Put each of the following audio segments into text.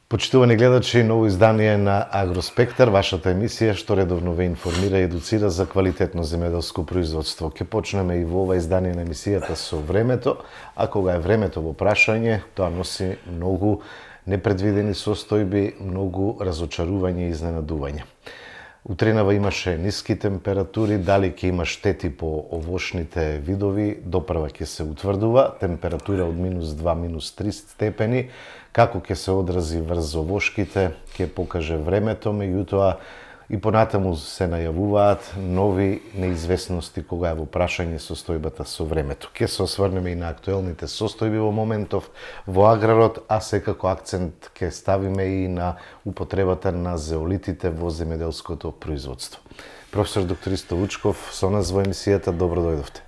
Почитувани гледачи, ново издание на Агроспектар, вашата емисија што редовно ве информира и едуцира за квалитетно земјоделско производство. Ќе почнеме и во ова издание на емисијата со времето, а кога е времето во прашање, тоа носи многу непредвидени состојби, многу разочарување и изненадување. Утринава имаше ниски температури, дали ќе има штети по овошните видови, допрва ќе се утврдува, температура од -2, -3 степени, како ќе се одрази врз овошките, ќе покаже времето, меѓутоа и понатаму се најавуваат нови неизвестности кога е во прашање состојбата со времето. Ќе се осврнеме и на актуелните состојби во моментов во аграрот, а секако акцент ќе ставиме и на употребата на зеолитите во земјоделското производство. Професор доктор Исто Вучков, со нас во емисијата, добро дојдовте.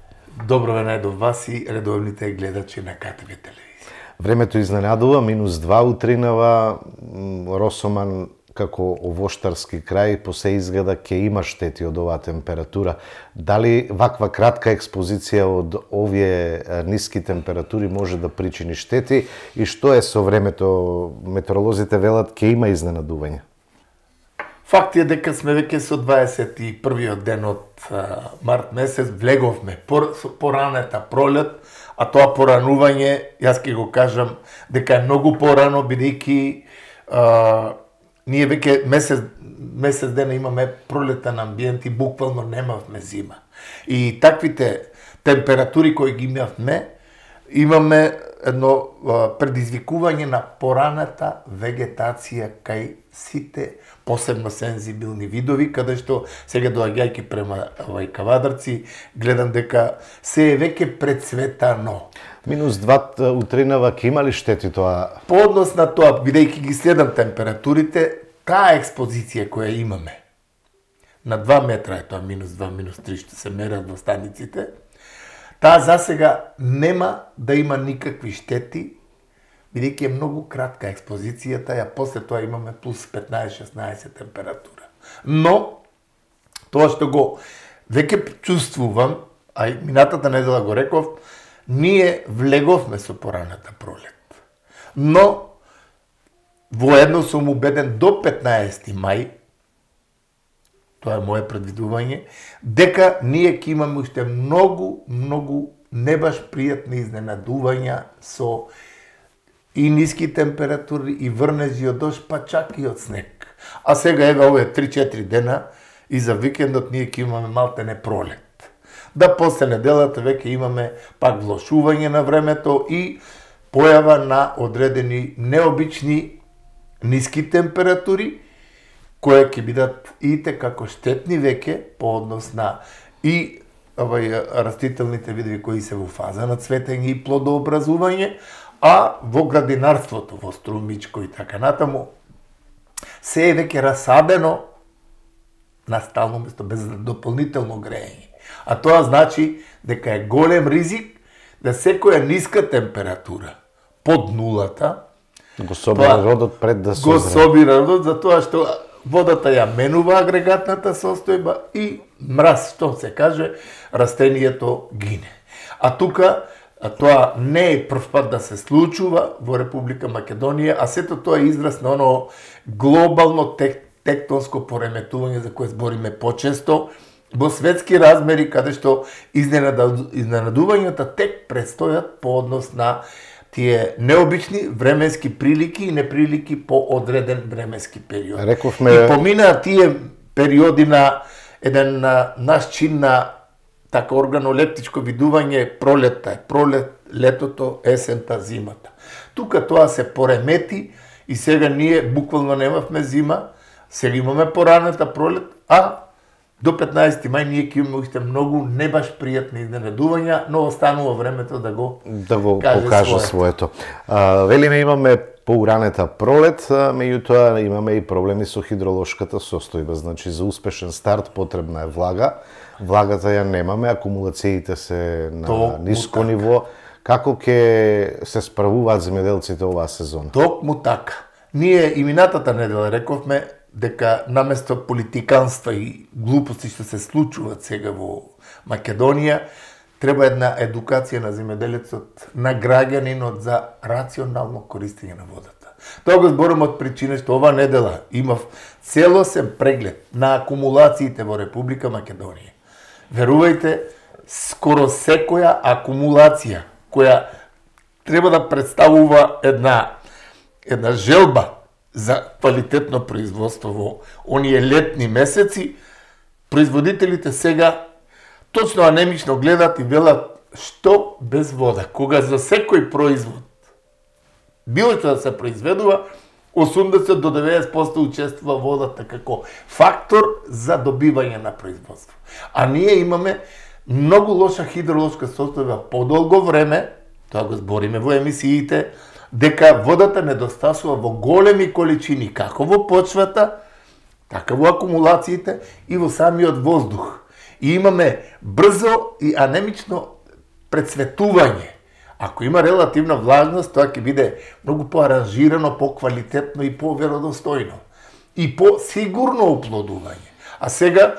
Добро ве најдов вас и редовните гледачи на КТВ телевизија. Времето изненадува, -2 утринава, Росоман како овоштарски крај, по се изгледа ќе има штети од оваа температура. Дали ваква кратка експозиција од овие ниски температури може да причини штети и што е со времето? Метеоролозите велат ќе има изненадување. Факт е дека сме веќе со 21-виот ден од март месец, влеговме поранета пролет, а тоа поранување, јас ќе го кажам дека е многу порано, бидејќи ние веќе месец дена имаме пролетен амбиент и буквално немавме зима. И таквите температури кои ги имаме едно предизвикување на пораната вегетација кај сите посебно сензибилни видови, каде што сега доаѓајќи према Кавадарци, гледам дека се е веќе прецветано. -2 утринава ќе има ли штети тоа? По однос на тоа, бидејќи ги следам температурите, таа експозиција која имаме, на 2 метра е тоа, -2, -3 што се мерат во станиците, таа засега нема да има никакви штети, бидејќи е многу кратка експозицијата, а после тоа имаме плюс 15-16 температура. Но, тоа што го веќе чувствувам, а и минатата недела го реков, ние влеговме со пораната пролет. Но, воедно сум убеден до 15 мај, тоа е моје предвидување, дека ние ќе имаме уште многу не баш пријатни изненадувања со и ниски температури, и врнежи од дожд, па чак и од снег. А сега еве овие 3-4 дена и за викендот ние ќе имаме малтене пролет. Да после неделата веќе имаме пак влошување на времето и појава на одредени необични ниски температури, кои ќе бидат и како штетни веќе по однос на и растителните видови кои се во фаза на цветење и плодообразување, а во градинарството, во струмичко и така натаму, се е веќе расадено на стално место, без дополнително грејење. А тоа значи дека е голем ризик да секоја ниска температура под нулата го собира родот пред да созре. Го собира родот, затоа што водата ја менува агрегатната состојба и мраз, што се каже, растението гине. А тука тоа не е прв пат да се случува во Република Македонија, а сето тоа е израз на оно глобално тектонско пореметување за кое збориме почесто, во светски размери, каде што изненадувањата тек предстојат по однос на тие необични временски прилики и неприлики по одреден временски период. Рековме... И поминаа тие периоди на еден наш чин на така органолептичко видување, пролетта е пролет, летото, есента, зимата. Тука тоа се поремети и сега ние буквално немавме зима, сега имаме пораната пролет, а до 15 мај ние ќе имаме уште многу не баш пријатни изненадувања, но останува времето да го покаже своето. Велиме имаме поуранета пролет, меѓутоа имаме и проблеми со хидролошката состојба. Значи за успешен старт потребна е влага. Влагата ја немаме, акумулациите се на ниско ниво. Како ќе се справуваат земјоделците оваа сезона? Токму така. Ние и минатата недела рековме дека наместо политиканства и глупости што се случуваат сега во Македонија, треба една едукација на земјоделецот, на граѓанинот за рационално користење на водата. Тоа го зборам од причина што ова недела имав целосен преглед на акумулациите во Република Македонија. Верувајте, скоро секоја акумулација која треба да представува една желба за квалитетно производство во оние летни месеци, производителите сега точно анемично гледат и велат што без вода, кога за секој производ било што да се произведува, 80 до 90% учествува водата како фактор за добивање на производство. А ние имаме многу лоша хидролошка состојба подолго време, тоа го збориме во емисиите, дека водата недостасува во големи количини, како во почвата, така во акумулациите и во самиот воздух. И имаме брзо и анемично прецветување. Ако има релативна влажност, тоа ќе биде многу поаранжирано, поквалитетно и поверодостојно. И по-сигурно оплодување. А сега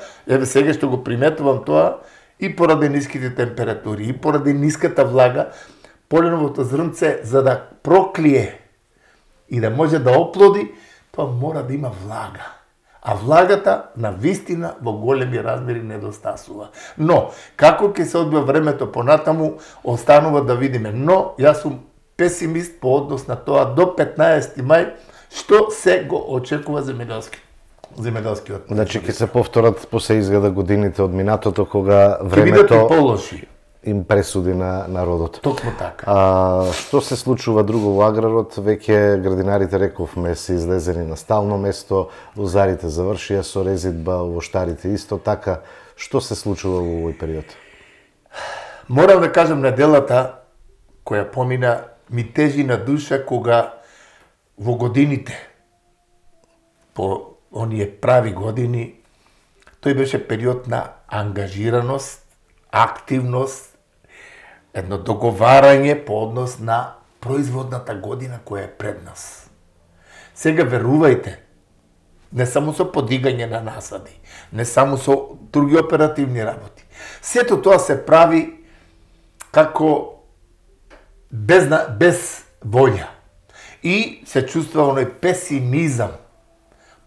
што го приметувам тоа, и поради ниските температури, и поради ниската влага, поленовото зрнце, за да проклие и да може да оплоди, тоа мора да има влага. А влагата на вистина во големи размери недостасува. Но, како ќе се одбива времето понатаму, останува да видиме. Но, јас сум песимист по однос на тоа до 15 мај, што се го очекува земјоделскиот. Значи, ќе се повторат после изгледа годините од минатото, кога времето ќе бидат и положи им пресуди на народот. Токму така. Што се случува друго во аграрот? Веќе градинарите, рековме, се излезени на стално место, лозарите завршија со резидба, овоштарите исто така. Што се случува во овој период? Морам да кажам, неделата која помина ми тежи на душа кога во годините, по оние прави години, тој беше период на ангажираност, активност, едно договарање по однос на производната година која е пред нас. Сега верувајте, не само со подигање на насади, не само со други оперативни работи. Сето тоа се прави како без волја. И се чувствува оној песимизам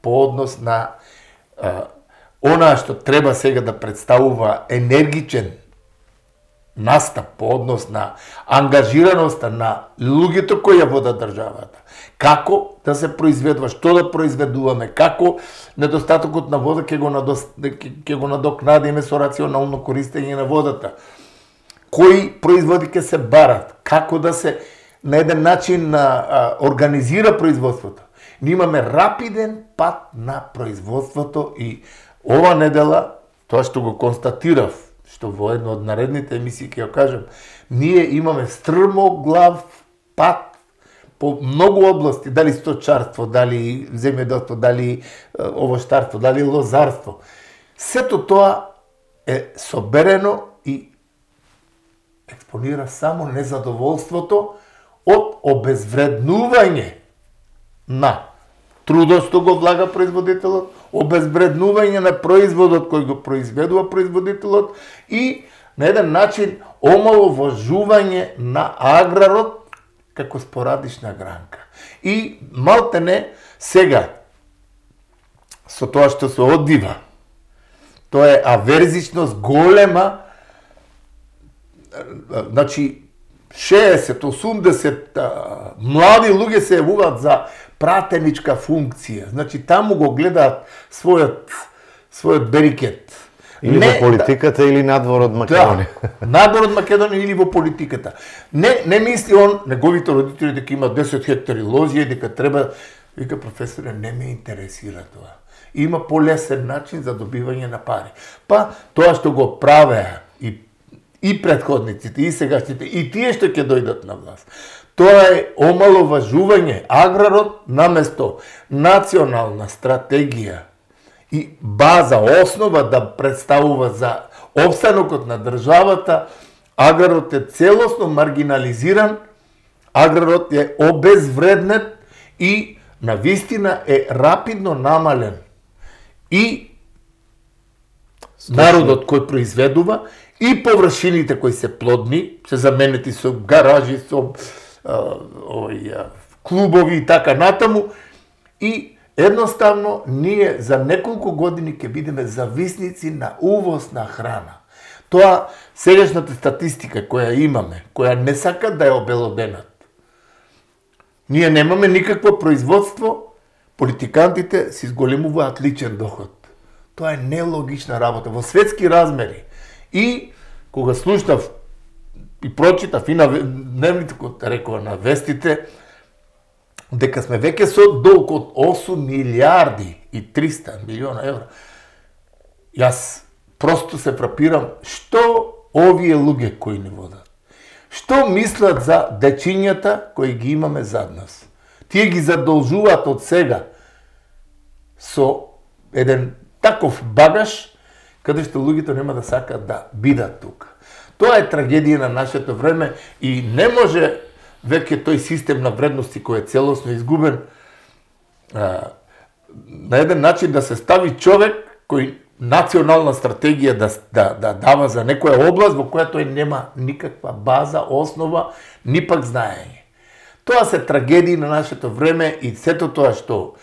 по однос на она што треба сега да представува енергичен настап по однос на ангажираноста на луѓето кои ја водат државата. Како да се произведува, што да произведуваме, како недостатокот на вода ќе го надокнадиме со рационално користење на водата. Кои производи ќе се барат, како да се на еден начин организира производството. Ние имаме рапиден пат на производството и ова недела, тоа што го констатирав, што во една од наредните емисии ќе ја кажам, ние имаме стрмоглав пат по многу области, дали сточарство, дали земјоделство, дали овоштарство, дали лозарство. Сето тоа е соберено и експонира само незадоволството од обезвреднување на трудот што го влага производителот, обезвреднување на производот кој го произведува производителот и на еден начин омаловажување на аграрот како спорадична гранка. И малтене сега со тоа што се одвива, тоа е аверзичност голема, значи 60-80 млади луѓе се јавуваат за пратеничка функција. Значи таму го гледаат својот берикет. Или во политиката или надвор од Македонија. Да, надвор од Македонија или во политиката. Не мисли он, неговите родители дека има 10 хектари лозија и дека треба, вика професоре, не ме интересира тоа. Има полесен начин за добивање на пари. Па тоа што го правеа и претходниците, и сегашните, и тие што ќе дојдат на власт. Тоа е омаловажување аграрот наместо национална стратегија и база, основа да представува за опстанокот на државата, аграрот е целосно маргинализиран, аграрот е обезвреднет и навистина е рапидно намален. И народот кој произведува и површините кои се плодни, се заменети со гаражи, со клубови и така натаму, и едноставно ние за неколку години ќе бидеме зависници на увоз на храна. Тоа сегашната статистика која имаме, која не сака да ја обелоденат. Ние немаме никакво производство, политикантите си зголемуваат личен доход. Тоа е нелогична работа во светски размери. И кога слушнав и прочитав и на дневните, рекова на вестите, дека сме веќе со долг од 8 милиарди и 300 милиона евра. Јас просто се фрапирам што овие луѓе кои не водат. Што мислат за дечињата кои ги имаме зад нас? Тие ги задолжуваат од сега со еден таков багаж, каде што луѓето нема да сакаат да бидат тука. Тоа е трагедија на нашето време и не може веќе тој систем на вредности кој е целосно изгубен на еден начин да се стави човек кој национална стратегија да дава за некоја област во која тој нема никаква база, основа, ни пак знаење. Тоа се трагедии на нашето време и сето тоа што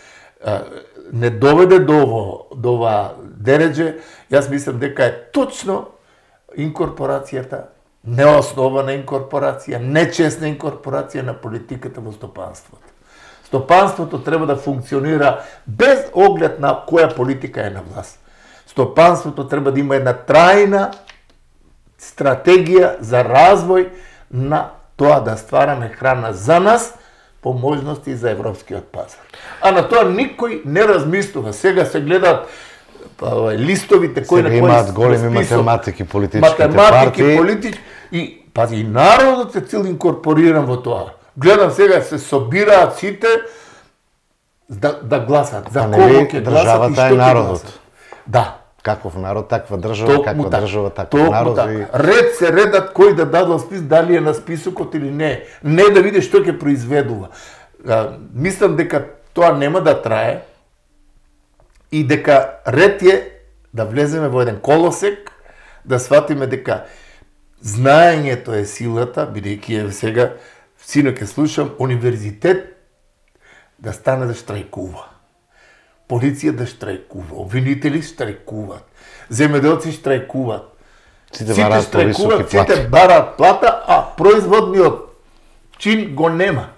не доведе до ова дередже, јас мислам дека е точно инкорпорацијата, неоснована инкорпорација, нечесна инкорпорација на политиката во стопанството. Стопанството треба да функционира без оглед на која политика е на власт. Стопанството треба да има една трајна стратегија за развој на тоа да ствараме храна за нас, по можности за европскиот пазар. А на тоа никој не размислува. Сега се гледаат листовите кои на кои имаат големи математики, политичките партии. И пази, и народот е цел инкорпориран во тоа. Гледам сега се собираат сите да гласат. За кого ќе гласат и што ќе гласат. Да. Каков народ, таква држава, каква држава, таков народ. Ред се редат кој да даде спис, дали е на списокот или не. Не да види што ќе произведува. Мислам дека тоа нема да трае и дека ред е да влеземе во еден колосек, да сватиме дека знаењето е силата, бидејќи е сега, сино ќе слушам, универзитет да стане да штрајкува. Полиција да штрајкува, обвинители штрајкуваат, земјоделци штрајкуваат. Сите штрајкуваат, сите бараат плата, а производниот чин го нема.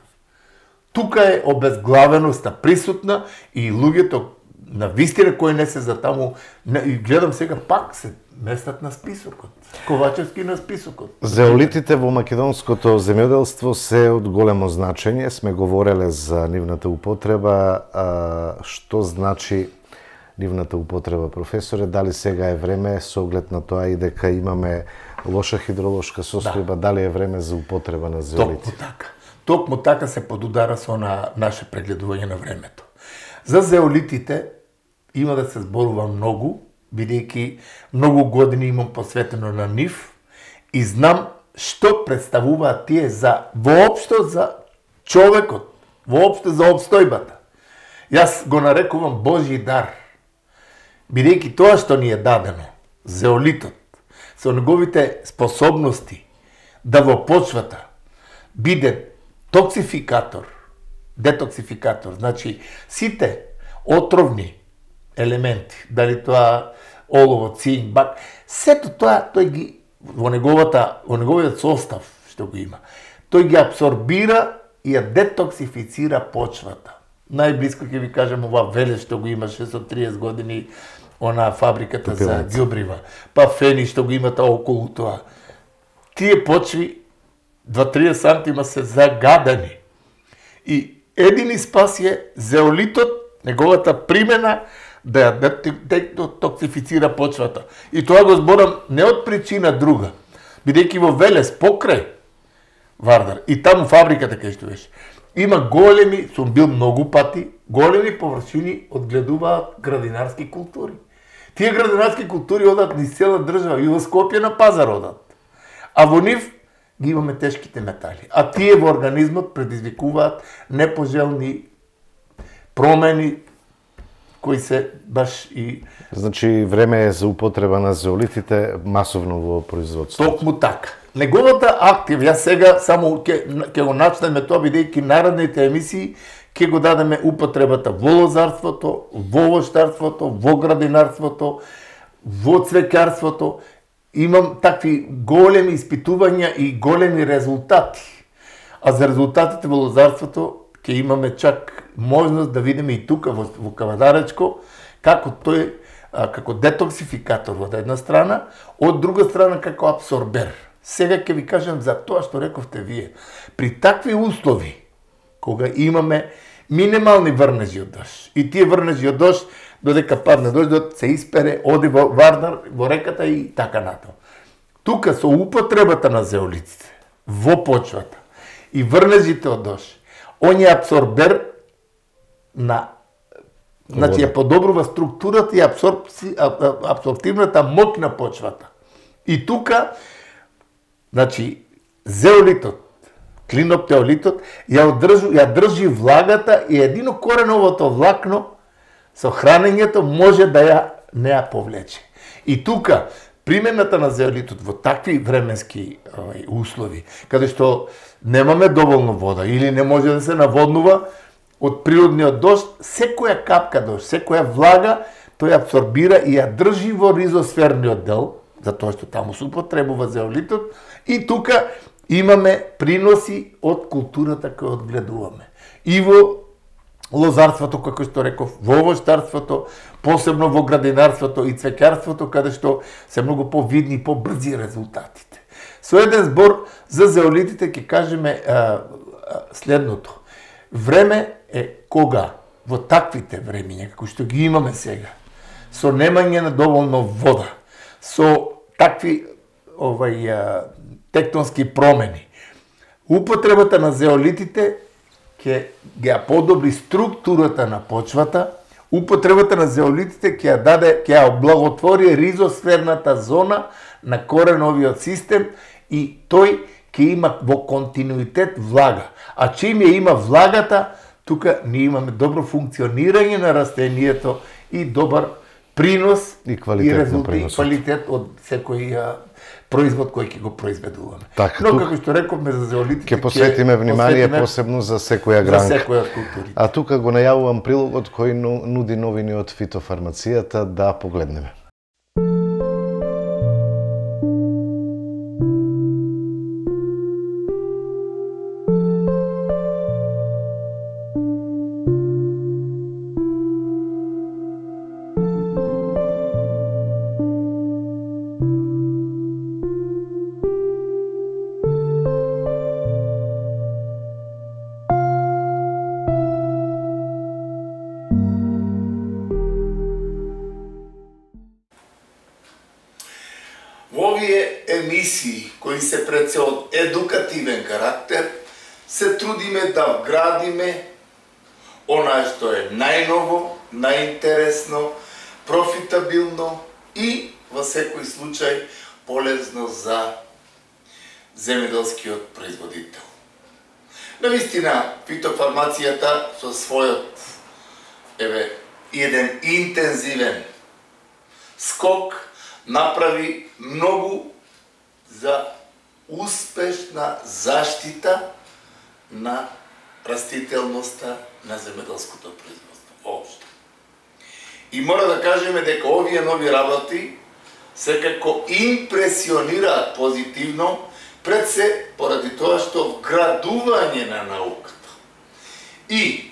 Тука е обезглавеноста присутна и луѓето на вистина кои не се за таму, и гледам сега пак се местат на списокот. Ковачевски на списокот. Зеолитите во македонското земјоделство се од големо значење. Сме говореле за нивната употреба. Што значи нивната употреба, професоре? Дали сега е време, со оглед на тоа и дека имаме лоша хидролошка состојба, дали е време за употреба на зеолити? Токму така се подудара со наше прегледување на времето. За зеолитите има да се зборува многу, бидејќи многу години имам посветено на нив и знам што представуваат тие воопшто за човекот, воопшто за обстојбата. Јас го нарекувам Божји дар, бидејќи тоа што ни е дадено, зеолитот, со неговите способности да во почвата биде токсификатор, детоксификатор, значи сите отровни елементи, дали тоа олово, цинк, бак, сето тоа тој ги во неговиот состав што го има, тој ги абсорбира и ја детоксифицира почвата. Најблиско ќе ви кажам ова Велес што го имаше со 30 години, она фабриката за ѓубрива, па Фени што го имате околу тоа. Тие почви 2-3 сантима се загадани. И едини спас е зеолитот, неговата примена да ја детоксифицира почвата. И тоа го зборам не од причина друга, бидејќи во Велес покрај Вардар и таму фабриката кај што беше, има големи, сум бил многу пати, големи површини одгледуваат градинарски култури. Тие градинарски култури одат низ цела држава и во Скопје на пазар одат. А во нив ги имаме тешките метали. А тие во организмот предизвикуваат непожелни промени, кои се баш и... Значи, време е за употреба на зеолитите масовно во производството. Токму така. Неговата актив, ја сега само ќе го начнеме тоа, бидејќи наредните емисии ќе го дадеме употребата во лозарството, во овоштарството, во градинарството, во цвеќарството. Имам такви големи испитувања и големи резултати. А за резултатите во лозарството ќе имаме чак можност да видиме и тука во Кавадаречко како тој како детоксификатор од една страна, од друга страна како абсорбер. Сега ќе ви кажам за тоа што рековте вие. При такви услови, кога имаме минимални врнежи од дожд, и тие врнежи од дожд, додека падне дождот, се испере, оди во Вардар, во реката и така натаму. Тука со употребата на зеолитите во почвата и врнежите од дожд, он е абсорбер на, значи ја подобрува структурата и абсорптивната моќ на почвата. И тука, значи, зеолитот, клиноптеолитот, ја држи влагата и едино кореновото влакно со хранењето може да не ја повлече. И тука, примената на зеолитот во такви временски услови, каде што немаме доволно вода или не може да се наводнува од природниот дожд, секоја капка дожд, секоја влага, тој абсорбира и ја држи во ризосферниот дел, затоа што таму се употребува зеолитот, и тука имаме приноси од културата која одгледуваме. И во лозарството, како што реков, во овоштарството, посебно во градинарството и цвеќарството, каде што се многу повидни и побрзи резултатите. Со еден збор за зеолитите ќе кажеме следното. Време е кога во таквите времиња, како што ги имаме сега, со немање на доволно вода, со такви тектонски промени, употребата на зеолитите ќе ја подобри структурата на почвата, употребата на зеолитите ќе ја облаготвори ризосферната зона на кореновиот систем и тој ќе има во континуитет влага. А чим ја има влагата, тука ние имаме добро функционирање на растението и добар принос и квалитет од секој производ кој ќе го произведуваме. Так, но како што рековме за зеолитите, ќе посветиме внимание посебно за секоја гранка. За секоја од културите. А тука го најавувам прилогот кој нуди новини од фитофармацијата, да погледнеме. Во овие емисии, кои се пред се од едукативен карактер, се трудиме да вградиме онае што е најново, најинтересно, профитабилно и во секој случај полезно за земјоделскиот производител. Навистина, фитофармацијата со својот еден интензивен скок направи многу за успешна заштита на растителноста на земјоделското производство воопшто. И мора да кажеме дека овие нови работи секако импресионираат позитивно, пред се поради тоа што вградување на науката и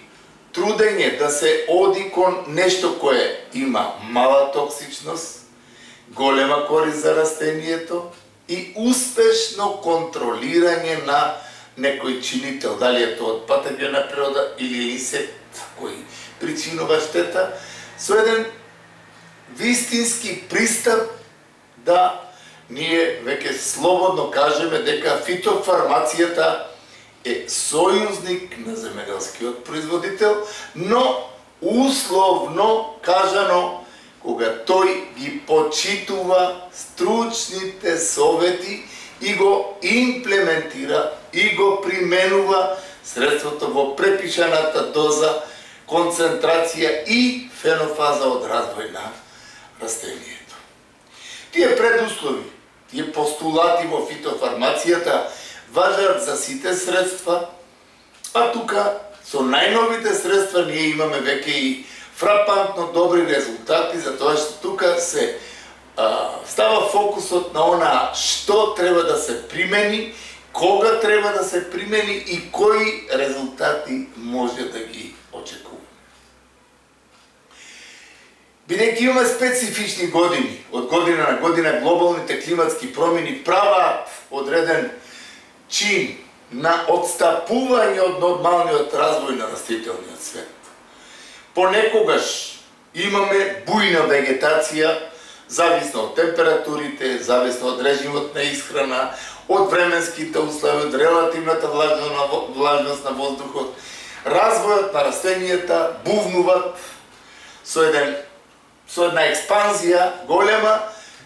трудење да се оди кон нешто кое има мала токсичност, голема корист за растението и успешно контролирање на некој чинител, дали е тоа од патогена природа или инсект кој причинува штета, со еден вистински пристап да ние веќе слободно кажеме дека фитофармацијата е сојузник на земјоделскиот производител, но условно кажано кога тој ги почитува стручните совети и го имплементира и го применува средството во препишаната доза концентрација и фенофаза од развој на растението. Тие предуслови, тие постулати во фитофармацијата важат за сите средства, а тука со најновите средства ние имаме веќе и фрапантно добри резултати, затоа што тука се става фокусот на она што треба да се примени, кога треба да се примени и кои резултати може да ги очекуваме. Бидејќи имаме специфични години, од година на година глобалните климатски промени праваат одреден чин на отстапување од нормалниот развој на растителниот свет. Понекогаш имаме бујна вегетација, зависно од температурите, зависно од режимот на исхрана, од временските услови, од релативната влажност на воздухот. Развојот на растенијата бувнуваат со една експанзија голема,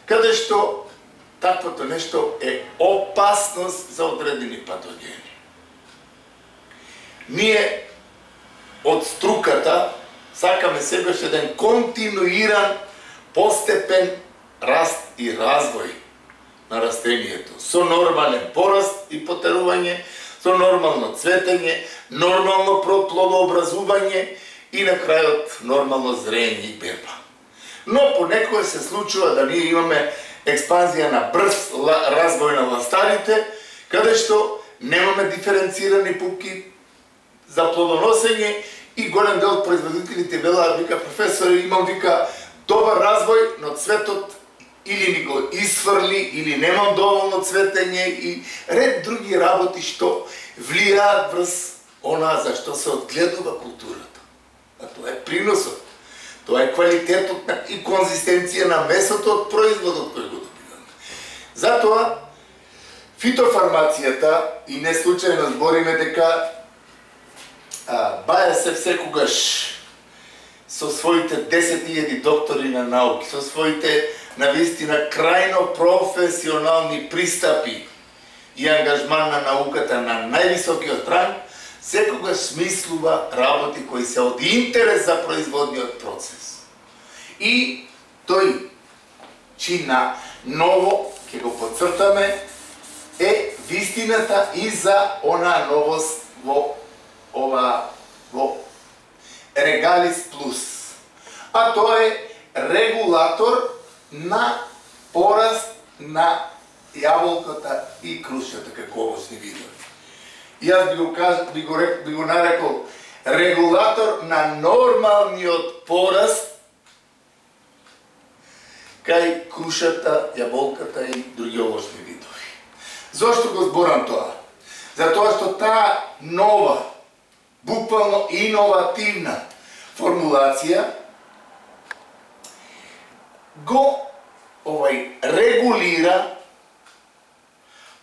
каде што таквото нешто е опасност за одредени патогени. Ние од струката сакаме сегаш еден континуиран, постепен раст и развој на растението, со нормален пораст и потерување, со нормално цветење, нормално плодообразување и на крајот нормално зрење и берба. Но понекогаш се случува да ние имаме експанзија на брз развој на ластарите, каде што немаме диференцирани пупки за плодоносење и голем дел од производителите велаат, вика, професори, имам, вика, добар развој, но цветот или ни го исфрли, или немам доволно цветење и ред други работи што влијаат врз она за што се одгледува културата. А тоа е приносот. Тоа е квалитетот и конзистенција на месото од производот кој го добиваме. Затоа, фитофармацијата, и не случајно збориме дека БАЕС секогаш со своите 10.000 доктори на науки, со своите навистина крајно професионални пристапи и ангажман на науката на највисокиот ранг, секогаш смислува работи кои се од интерес за производниот процес. И тој чин на ново, ќе го подцртаме, е вистината и за она новост во Регалис Плюс. А тоа е регулатор на пораст на јаболката и крушата како овочни видови. Јас би го нарекол регулатор на нормалниот пораст кај крушата, јаболката и други овочни видови. Зошто го зборам тоа? Затоа што таа нова, буквално иновативна формулација го регулира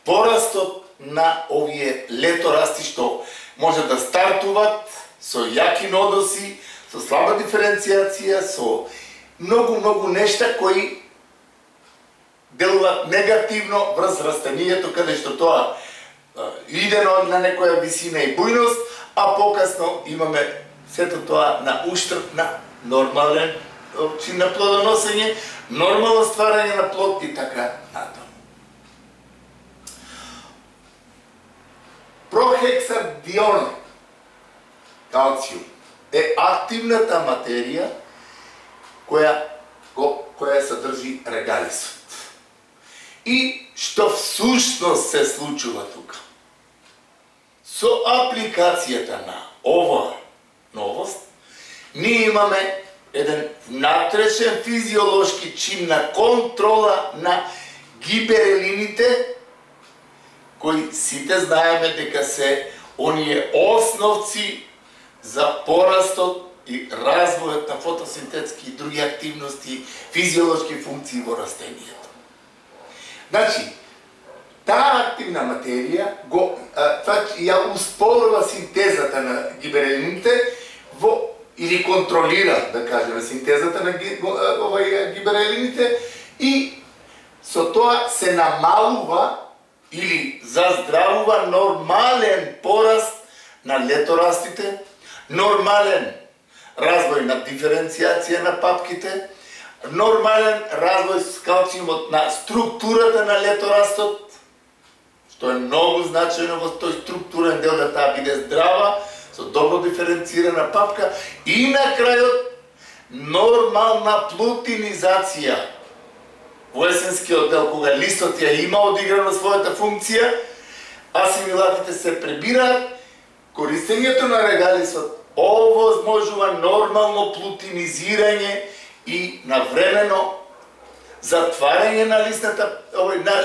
порастот на овие леторасти што може да стартуваат со јаки нодоси, со слаба диференцијација, со многу нешта кои делуваат негативно врз растенијето, каде што тоа иде на некоја висина и бујност, а покасно имаме сето тоа на уштрб на нормален чин на плодоносење, нормално стварање на плод и така натаму. Прохексадион калциум е активната материја која содржи регалисот. И што всушност се случува тука? Со апликацијата на ова новост, ние имаме еден внатрешен физиолошки чин на контрола на гиберелините, кои сите знаеме дека се оние основци за порастот и развојот на фотосинтетски и други активности, физиолошки функции во растенијето. Значи, таа активна материја ја успорува синтезата на гиберелините или контролира, да кажеме, синтезата на гиберелините и со тоа се намалува или заздравува нормален пораст на леторастите, нормален развој на диференцијација на папките, нормален развој с калциумот на структурата на леторастот, што е многу значајно во тој структурен дел да таа биде здрава, со добро диференцирана папка и на крајот нормална плутинизација. Во есенскиот дел, кога листот ја има одиграно својата функција, асимилатите се пребираат, користењето на регалисот овозможува нормално плутинизирање и навремено затварање на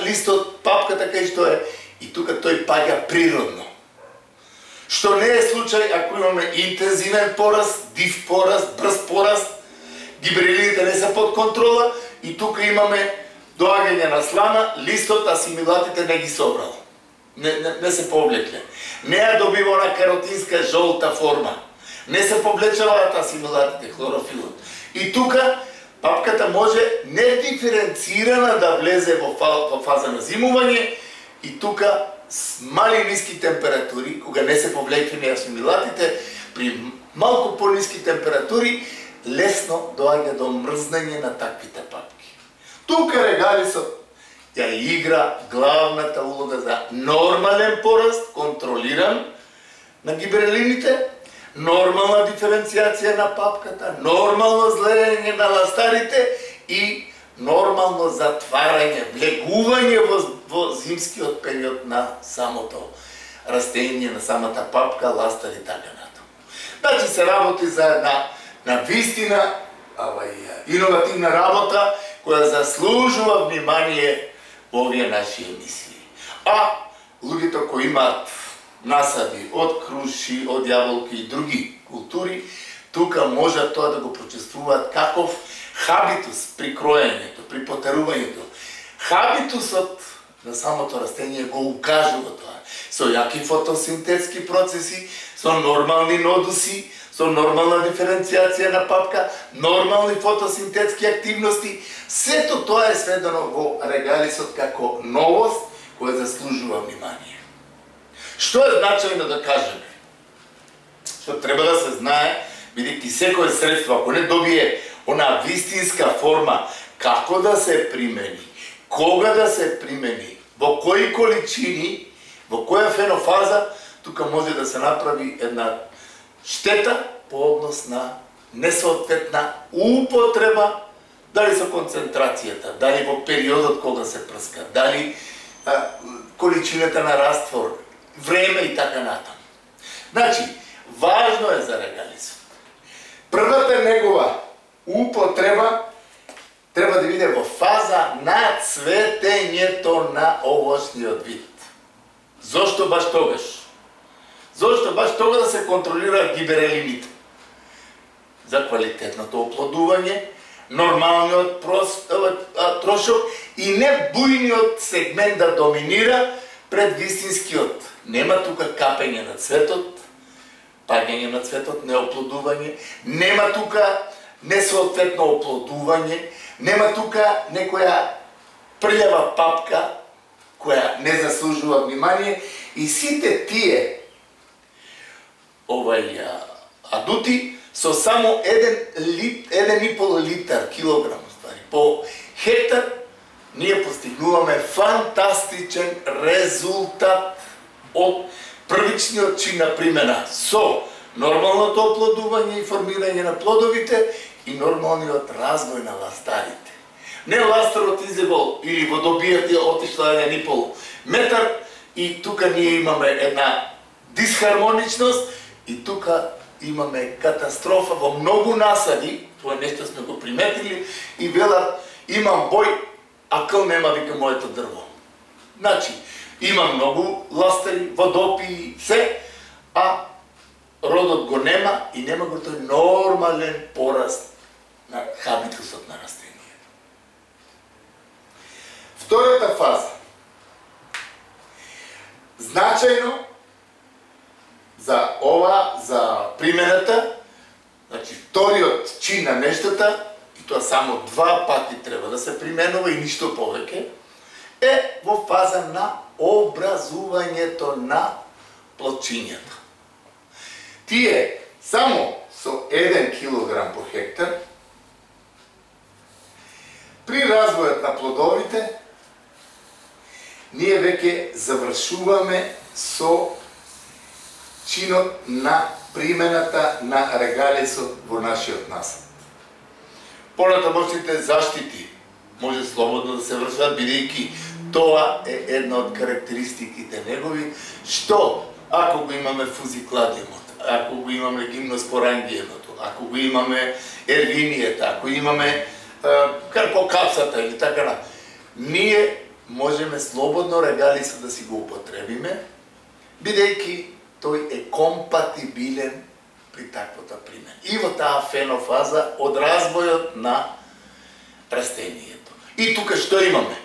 листот, папката кај што е, и тука тој паѓа природно. Што не е случај ако имаме интензивен пораст, див пораст, брз пораст, гибрелините не се под контрола и тука имаме доаѓање на слана, листот, асимилатите не ги собрал. Не се повлекле. Не ја добива она каротинска жолта форма. Не се повлечаваат асимилатите, хлорофилот. И тука папката може недиференцирана да влезе во фаза на зимување и тука с мали ниски температури, кога не се повлекени асимилатите, при малку пониски температури лесно доаѓа до мрзнење на таквите папки. Тука регалисот ја игра главната улога за нормален пораст, контролиран на гибрелините, нормална диференцијација на папката, нормално злеење на ластарите и нормално затварање, влегување во зимскиот период на самото растение, на самата папка, ластар и така натаму. Значи се работи за една навистина иновативна работа која заслужува внимание во овие наши емисии. А луѓето кои имаат насади од круши, од јаболки и други култури, тука може тоа да го прочувствуваат каков хабитус при кроењето, при потерувањето. Хабитусот на самото растение го укажува тоа. Со јаки фотосинтетски процеси, со нормални нодуси, со нормална диференцијација на папка, нормални фотосинтетски активности, сето тоа е сведено во регалисот како новост која заслужува внимание. Што е значајно да кажеме? Што треба да се знае, бидејќи секое средство, ако не добие она вистинска форма, како да се примени, кога да се примени, во кои количини, во која фенофаза, тука може да се направи една штета по однос на несоодветна употреба, дали со концентрацијата, дали во периодот кога се прска, дали количината на раствор, време и така натаму. Значи, важно е за регалисот. Првата негова употреба треба да биде во фаза на цветењето на овошниот вид. Зошто баш тогаш? Зошто баш тога да се контролираат гиберелините? За квалитетното оплодување, нормалниот трошок и не бујниот сегмент да доминира пред вистинскиот. Нема тука капење на цветот, паѓање на цветот, неоплодување, нема тука несоодветно оплодување, нема тука некоја прљава папка која не заслужува внимание и сите тие адути со само 1,5 литар килограм по хектар ние постигнуваме фантастичен резултат од првичниот чин на примена со нормалното оплодување и формирање на плодовите и нормалниот развој на ластарите. Не ластарот изебол или водобијата отишла 1,5 метар и тука ние имаме една дисхармоничност и тука имаме катастрофа во многу насади, тоа нешто сме го приметили и велат имам бој, а кл нема вика моето дрво. Значи, има многу ластари, водопи, се, а родот го нема и нема го тој нормален пораст на хабитусот на растението. Втората фаза. Значајно за за примената, значи вториот чин на нештата, и тоа само 2 пати треба да се применува и ништо повеќе, е во фаза на образувањето на плодчињата. Тие само со 1 килограм по хектар. При развојот на плодовите, ние веќе завршуваме со чинот на примената на регалисот во нашиот насад. Понатамошните заштити може слободно да се вршат, бидејќи тоа е една од карактеристиките негови, што ако го имаме фузикладиумот, ако го имаме гимноспорангиемото, ако го имаме ервинијата, ако имаме карпокапсата или така, ние можеме слободно регалисот да си го употребиме, бидејќи тој е компатибилен при таквата примена. И во таа фенофаза од развојот на растението. И тука што имаме?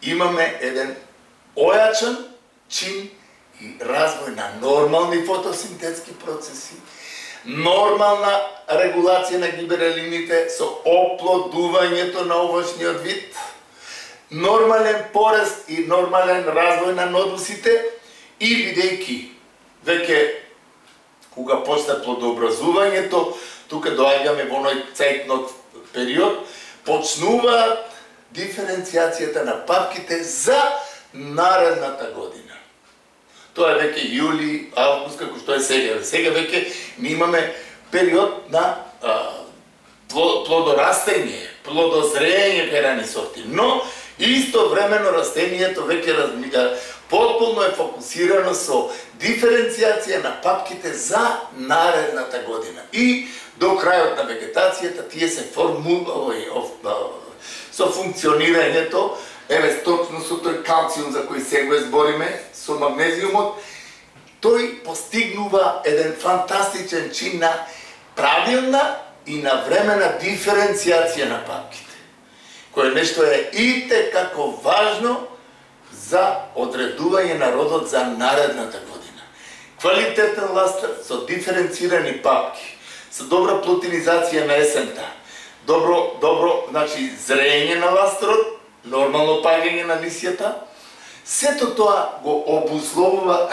Имаме еден ојачен чин и развој на нормални фотосинтетски процеси, нормална регулација на гиберелините со оплодувањето на овошниот вид, нормален порест и нормален развој на нодусите и бидејќи веќе кога почне плодообразувањето, тука доаѓаме во оној цејтнот период, почнуваат диференцијацијата на папките за наредната година. Тоа е веќе јули, август, како што е сега. Сега веќе ми имаме период на плодорастење, плодозрење кај рани сорти. Но истовремено растението веќе потполно е фокусирано со диференцијација на папките за наредната година. И до крајот на вегетацијата тие се со функционирањето, еве точно со тој калциум за кој сега збориме, со магнезиумот, тој постигнува еден фантастичен чин на правилна и навремена диференцијација на папките, кој нешто е итекако важно за одредување на родот за наредната година. Квалитетен ластер со диференцирани папки, со добра плотинизација на есента, добро, значи зрење на ластерот, нормално паѓање на лисијата, сето тоа го обусловува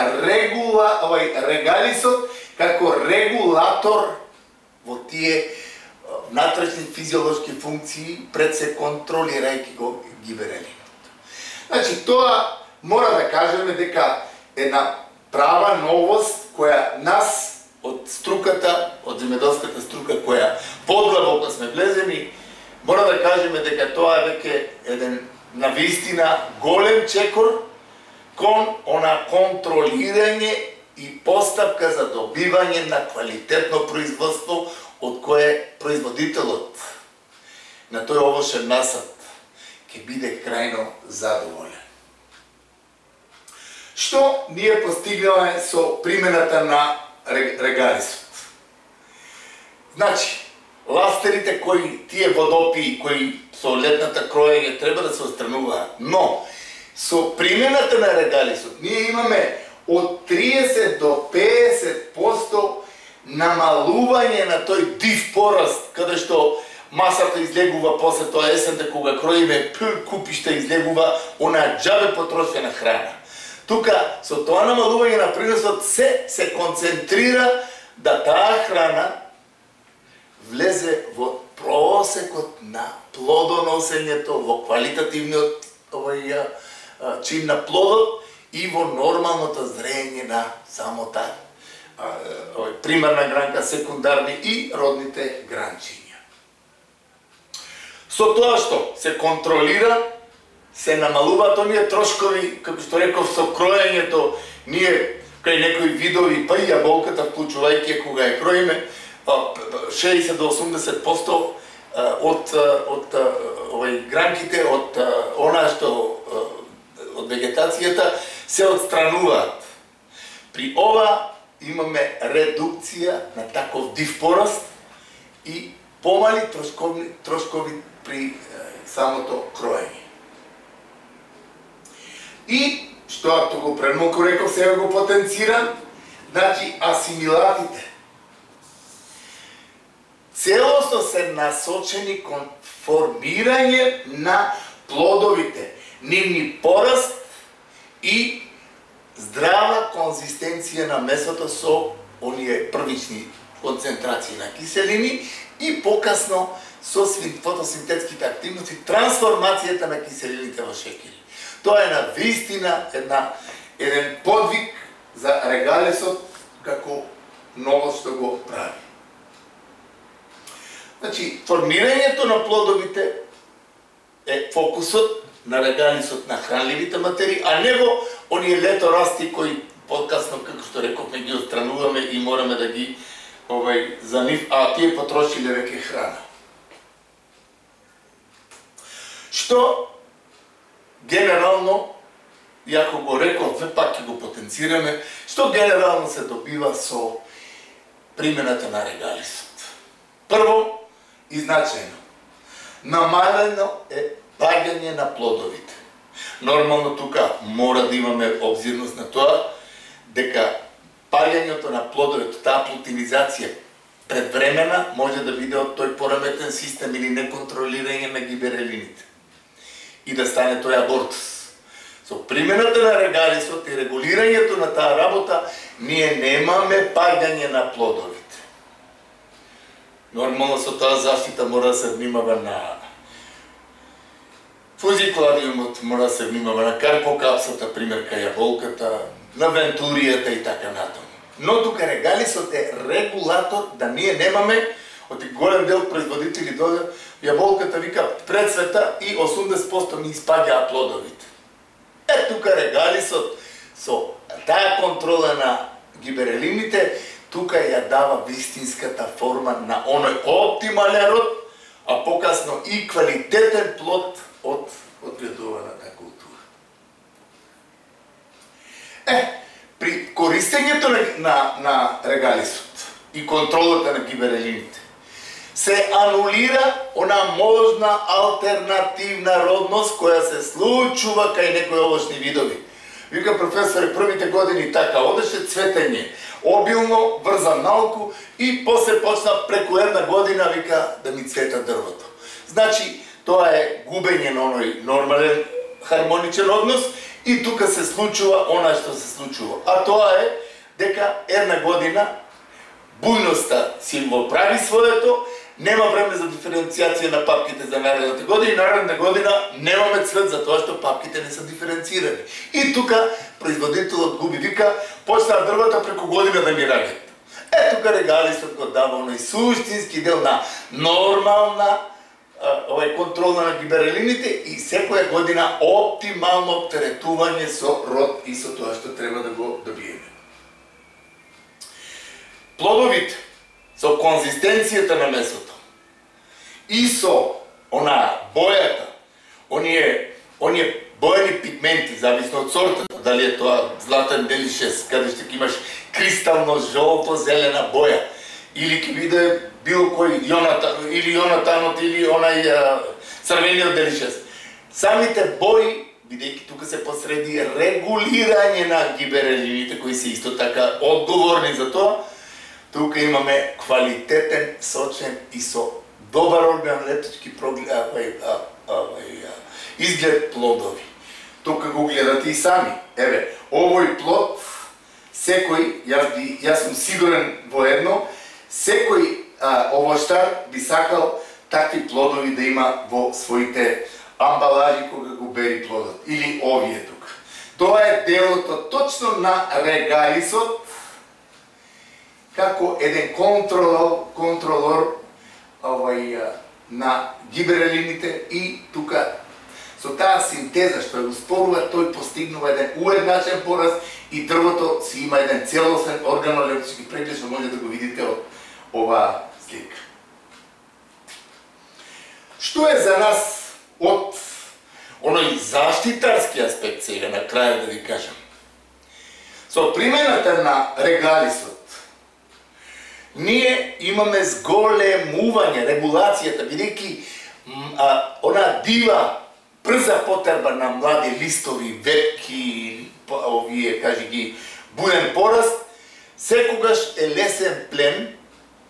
регалисот како регулатор во тие внатрешни физиолошки функции пред се контролирајќи го гиберелинот. Значи, тоа мора да кажеме дека една права новост која нас од струката, од земјоделската струка која подлабоко сме влезени, мора да кажеме дека тоа е веќе еден навистина голем чекор кон она контролирање и постапка за добивање на квалитетно производство од кое производителот на тој овошен насад ќе биде крајно задоволен. Што ние постигнаме со примената на регалисот? Значи, ластерите кои тие водопии кои со летната кроење треба да се отстрануваат, но со примената на регалисот ние имаме од 30 до 50% намалување на тој див пораст, каде што масата излегува после тоа есента кога кроиме купишта излегува она џабе потрошена храна. Тука со тоа намалување на приносот се концентрира да таа храна влезе во просекот на плодоносењето, во квалитативниот чин на плодот и во нормалното зрење на самота примарна гранка, секундарни и родните гранчиња. Со тоа што се контролира, се намалуваат оние трошкови, како што реков, со кроењето, ние кај некои видови, па и јаболката, вклучувајќи кога ја кроиме, 60 до 80% од гранките, од она што од вегетацијата се отстрануваат. При ова имаме редукција на таков див пораст и помали трошкови при самото кроење. И што ако го премалку реков, сега го потенцирам, значи асимилатите целосно се насочени кон формирање на плодовите, нивни пораст и здрава конзистенција на месото со оние првични концентрации на киселини и покасно со фотосинтетските активности трансформацијата на киселините во шеќери. Тоа е на вистина еден подвиг за регалисот како ново што го прави. Значи, формирањето на плодовите е фокусот на регалисот на хранливите материи, а не во оние леторасти кои подкасно, како што рековме, ги отстрануваме и мораме да ги за нив, а тие потрошиле веќе храна. Што генерално, јако го реков, пак ќе го потенцираме, што генерално се добива со примената на регалисот. Прво и значајно, намалено е паѓање на плодовите. Нормално тука мора да имаме обзирност на тоа, дека паѓањето на плодовите, таа плутинизација предвремена може да биде од тој пораметен систем или неконтролирање на гиберелините и да стане тој абортус. Со примената на регалисот и регулирањето на таа работа, ние немаме паѓање на плодовите. Нормално со таа заштита мора да се внимава на фузикулариумот, мора да се внимава на карпокапсата, пример кај јаболката, на вентуријата и така натаму. Но тука регалисот е регулатор да ние немаме, од голем дел производители дојде, јаболката вика прецвета и 80% ни испаѓаа плодовите. Тука регалисот со таа контрола на гиберелините, тука ја дава вистинската форма на оној оптимален род, а покасно и квалитетен плод од одгледуваната култура. При користењето на регалисот и контролата на гиберелините се анулира она можна алтернативна родност која се случува кај некои овошни видови. Вика професоре, првите години така одеше цветење, обилно, врзан наоку и после почна преку една година, вика, да ми цвета дрвото. Значи, тоа е губење на оној нормален хармоничен однос и тука се случува она што се случува. А тоа е дека една година бујноста си го прави своето, нема време за диференцијација на папките за наредната година и наредната година немаме цвет за тоа што папките не се диференцирани. И тука производителот губи, вика, почнаа дрвата преку година да ми раѓат. Тука регалисот го дава оној суштински дел на нормална контрола на гиберелините и секоја година оптимално оптеретување со род и со тоа што треба да го добиеме. Плодовите со конзистенцијата на месото и со бојата, оние бојани пигменти, зависно од сортата, дали е тоа златен делишес, каде што имаш кристално жолто-зелена боја, или ќе биде било кој Јонатанот или онај црвениот делишес. Самите бои, бидејќи тука се посреди регулирање на гиберелините, кои се исто така одговорни за тоа, тука имаме квалитетен, сочен и со добар органолептички изглед плодови. Тука го гледате и сами. Еве, овој плод, секој, јас сум сигурен во едно, секој овоштар би сакал такви плодови да има во своите амбалажи кога го бери плодот. Или овие тука. Тоа е делото точно на регалисот, како еден контролор на гиберелините и тука со таа синтеза што го спорува, тој постигнува еден уедначен пораст и дрвото си има еден целосен органолептички преглед што може да го видите од оваа слика. Што е за нас од оној заштитарски аспект сега на крај да ви кажам? Со примената на регалисот ние имаме зголемување, регулацијата, бидејќи она дива, брза потерба на млади листови, ветки, овие, кажи ги, буен пораст, секогаш е лесен плен,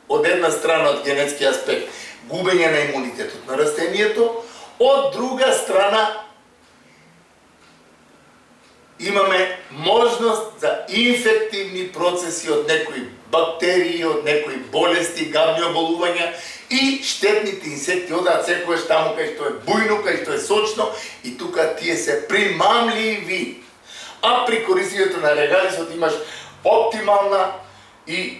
од една страна од генетски аспект, губење на имунитетот на растението, од друга страна имаме можност за инфективни процеси од некои бактерии, од некои болести, гавни оболувања и штетните инсекти одаат секогаш таму кај што е бујно, кај што е сочно и тука тие се примамливи. А при користењето на регалисот имаш оптимална и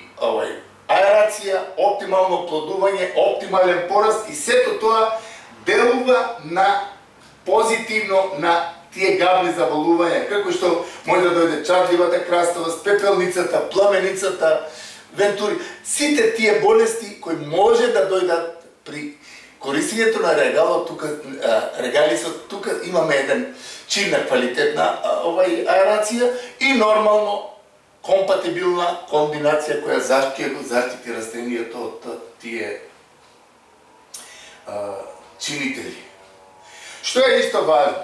аерација, оптимално плодување, оптимален пораст и сето тоа делува на позитивно на тие гавни заболувања, како што може да дојде чарливата краставост, пепелницата, пламеницата, вентури, сите тие болести кои може да дојдат при користењето на регалисот, тука имаме еден чин на квалитетна аерација и нормално компатибилна комбинација која заштити растенијето од тие чинители. Што е исто важно?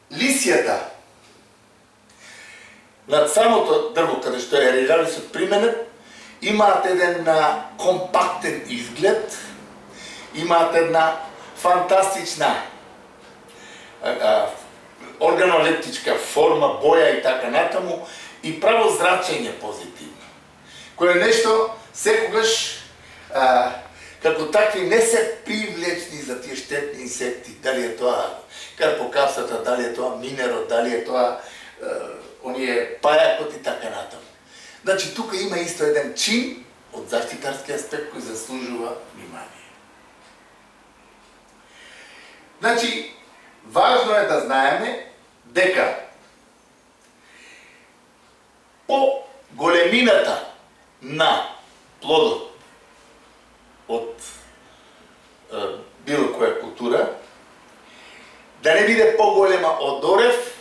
Лисијата над самото дрво каде што е регалисот применет имаат еден компактен изглед, имаат една фантастична органолептичка форма, боја и така натаму и право зрачење позитивно, кое е нешто секогаш како такви не се привлечни за тие штетни инсекти, дали е тоа карпокапсата, дали е тоа минерот, дали е тоа оние пајакот и така натаму. Значи, тука има исто еден чин од заштитарски аспект кој заслужува внимание. Значи, важно е да знаеме дека по големината на плодот од било која култура, да не биде поголема од орев,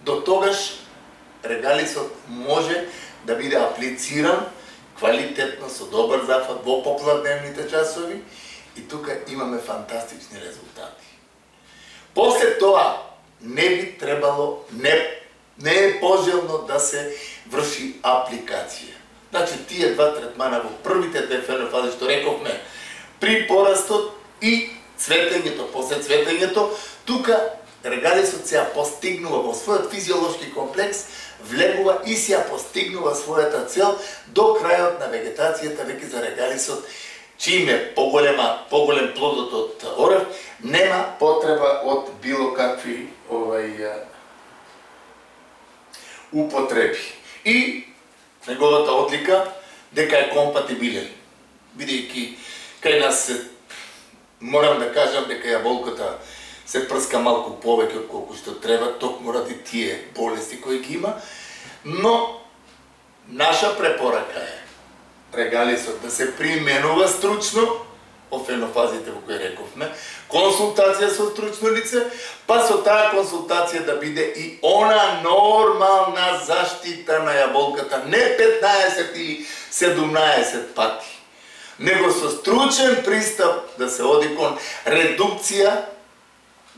до тогаш регалисот може да биде аплициран квалитетно со добар зафат во попладневните часови и тука имаме фантастични резултати. После тоа не би требало, не е пожелно да се врши апликација. Значи, тие два третмана во првите две фенофази што рековме, при порастот и цветењето, после цветењето, тука регалисот се ја постигнува во својот физиолошки комплекс, влегува и се ја постигнува својата цел до крајот на вегетацијата веќе за регалисот, чим е поголем плодот од орев, нема потреба од било какви употреби. И неговата одлика дека е компатибилен. Бидејќи кај нас морам да кажам дека јаболката се прска малку повеќе од колку што треба, токму ради тие болести кои ги има, но наша препорака е регалисот да се применува стручно, во фенофазите во кои рековме, консултација со стручно лице, па со таа консултација да биде и она нормална заштита на јаболката, не 15 или 17 пати, него со стручен пристап да се оди кон редукција,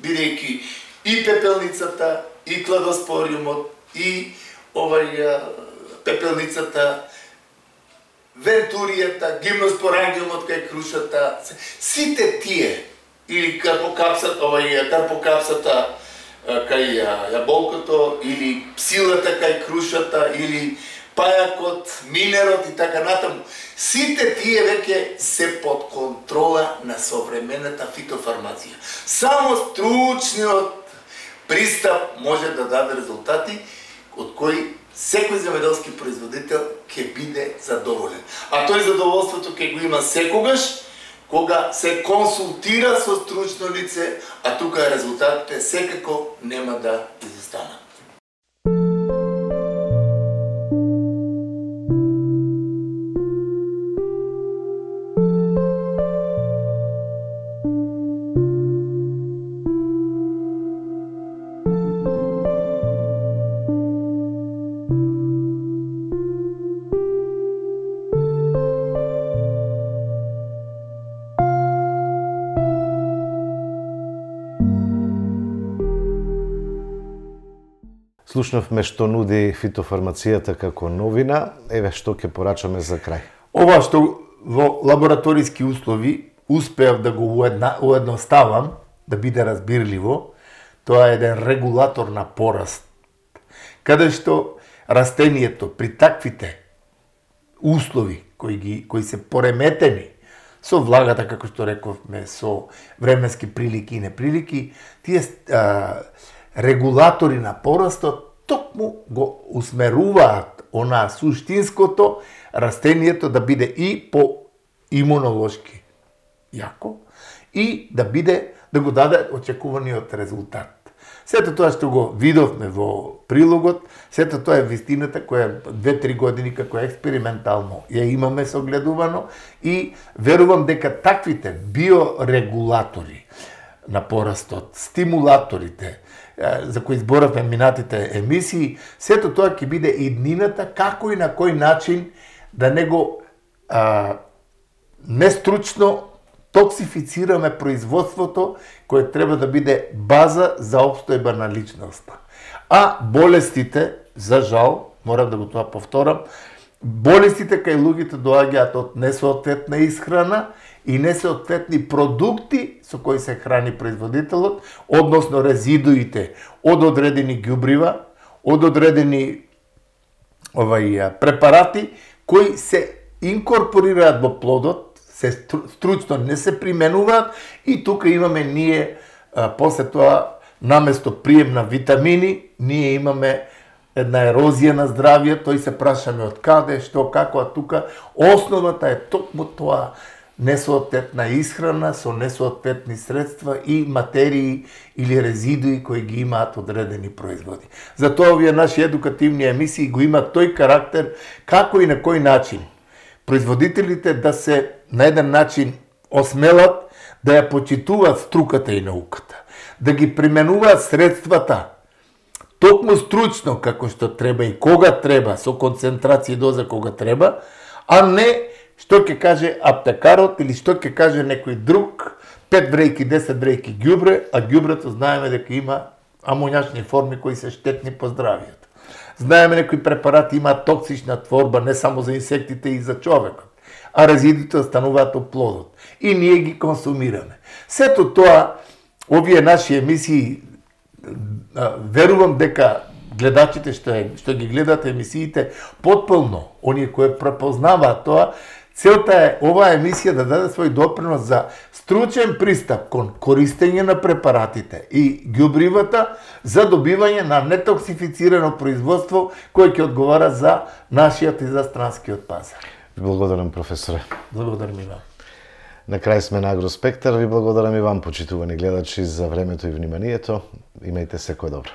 бидејќи и пепелницата, и кладоспориумот, и пепелницата, вентуријата, гимноспорангиумот кај крушата, сите тие, или карпокапсата кај јаболкото, или псилата кај крушата, или пајакот, минерот и така натаму, сите тие веќе се под контрола на современата фитофармација. Само стручниот пристап може да даде резултати од кои секој земјоделски производител ќе биде задоволен. А тој задоволството ќе го има секогаш кога се консултира со стручно лице, а тука резултатите секако нема да изостанат. Слушнавме што нуди фитофармацијата како новина, еве што ќе порачаме за крај. Ова што во лабораториски услови успеав да го уедноставам, да биде разбирливо, тоа е еден регулатор на пораст, каде што растението при таквите услови кои се пореметени со влагата, како што рековме, со временски прилики и неприлики, тие регулатори на порастот токму го усмеруваат она суштинското растението да биде и по имунолошки јако и да го даде очекуваниот резултат. Сето тоа што го видовме во прилогот, сето тоа е вистината која 2-3 години како експериментално ја имаме согледувано и верувам дека таквите биорегулатори на порастот, стимулаторите за кои зборавме минатите емисии, сето тоа ќе биде иднината како и на кој начин да него нестручно токсифицираме производството кое треба да биде база за обстојба на личноста. А болестите, за жал, морам да го тоа повторам, болестите кај луѓето доаѓаат од несоодветна исхрана и несоодветни продукти со кои се храни производителот, односно резидуите од одредени ѓубрива, од одредени препарати кои се инкорпорираат во плодот, се стручно не се применуваат и тука имаме ние после тоа наместо прием на витамини, ние имаме една ерозија на здравје, тој се прашаме од каде, што, како, а тука основата е токму тоа несоодветна исхрана со несоодветни средства и материи или резидуи кои ги имаат одредени производи. Затоа овие наши едукативни емисии го имаат тој карактер како и на кој начин производителите да се на еден начин осмелат да ја почитуваат струката и науката, да ги применуваат средствата токму стручно како што треба и кога треба, со концентрација и доза кога треба, а не што ќе каже аптекарот или што ќе каже некој друг, 5 брејки, 10 брејки ѓубре, а ѓубрето знаеме дека има амоњачни форми кои се штетни по здравјето. Знаеме некои препарати имаат токсична творба не само за инсектите и за човекот, а резидуите остануваат во плодот и ние ги консумираме. Сето тоа, овие наши емисии, верувам дека гледачите што ги гледат емисиите потполно, оние кои препознаваат тоа, целта е оваа емисија да даде свој допринос за стручен пристап кон користење на препаратите и ѓубривата за добивање на нетоксифицирано производство кое ќе одговара за нашиот и за странскиот пазар. Ви благодарам, професоре. Благодарам и вам. На крај сме на Агроспектар. Ви благодарам и вам, почитувани гледачи, за времето и вниманието. Имајте секој добро.